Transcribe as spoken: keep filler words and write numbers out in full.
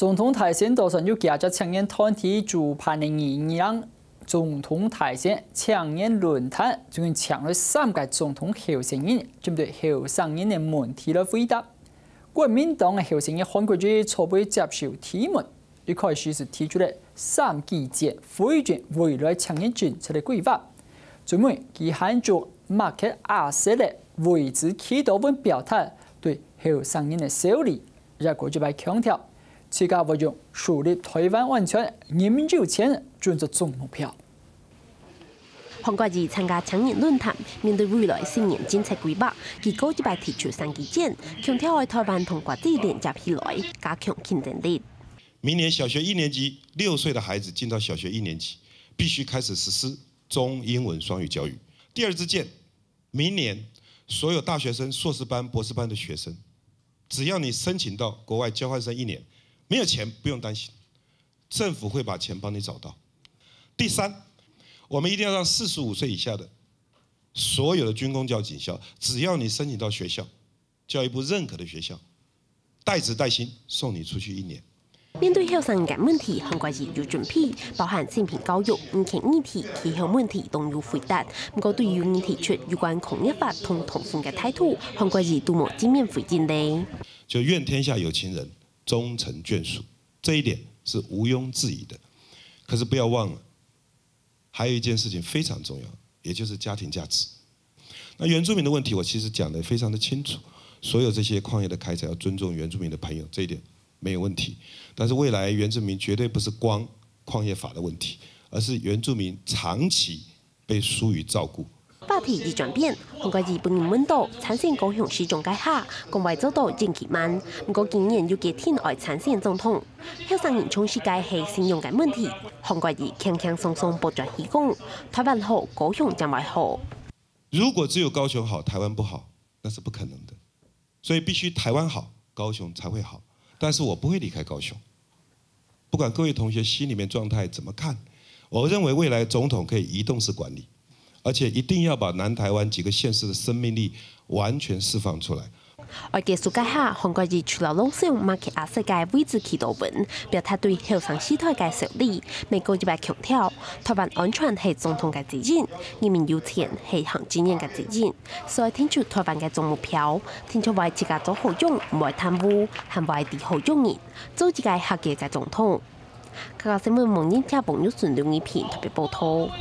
總統大選當中有幾隻青年團體主辦个二二零總統大選青年論壇，總共請來三個總統候選人，針對後生人个問題來回答。國民黨个候選人韓國瑜初步接受提問，一開始係提出了三支箭，回應未來青年政策个規劃。最尾，佢還就馬克阿瑟个位置祈禱文表達對後生人个鼓勵。 也過一擺強調，自家會用樹立台灣安全、人民優先準做總目標。韓國瑜參加青年論壇，面對未來十年政策規劃，佢過一擺提出三支箭，強調愛台灣同國際連接起來，加強競爭力。明年小学一年级，六岁的孩子进到小学一年级，必须开始实施中英文双语教育。第二支箭，明年所有大学生、硕士班、博士班的学生，只要你申请到国外交换生一年，没有钱不用担心，政府会把钱帮你找到。第三，我们一定要让四十五岁以下的所有的军公教警校，只要你申请到学校，教育部认可的学校，带子带薪送你出去一年。面對後生人个問題，韓國瑜有準備，包含性平教育、人權議題、氣候問題都有回答。毋過對於有人提出有關工業法同同婚个態度，韓國瑜都無正面回應呢。就愿天下有情人终成眷属，这一点是毋庸置疑的。可是不要忘了，还有一件事情非常重要，也就是家庭价值。那原住民的问题，我其实讲得非常的清楚，所有这些矿业的开采要尊重原住民的朋友，这一点没有问题。但是未来原住民绝对不是光矿业法的问题，而是原住民长期被疏于照顾。話題一轉變，韓國瑜本人問到參選高雄市長該下，講會做到任期滿，毋過今年又決定愛參選總統。後生人重視个係信仰个問題，韓國瑜輕輕鬆鬆駁轉去講，台灣好，高雄正會好。如果只有高雄好，台湾不好，那是不可能的。所以必须台湾好，高雄才会好。但是我不会离开高雄。不管各位同学心里面状态怎么看，我认为未来总统可以移动式管理，而且一定要把南台湾几个县市的生命力完全释放出来。愛結束該下，韓國瑜除了朗誦馬克阿瑟个位置祈禱文，表達對後生世代个鼓勵，美國一擺強調，台灣安全係總統个責任，人民有錢係行政院个責任，所以定出台灣个總目標，定出會自家做好用，毋會貪污，還會治好用人，做一個合格个總統。客家新聞網人客朋友順流一片特別報道。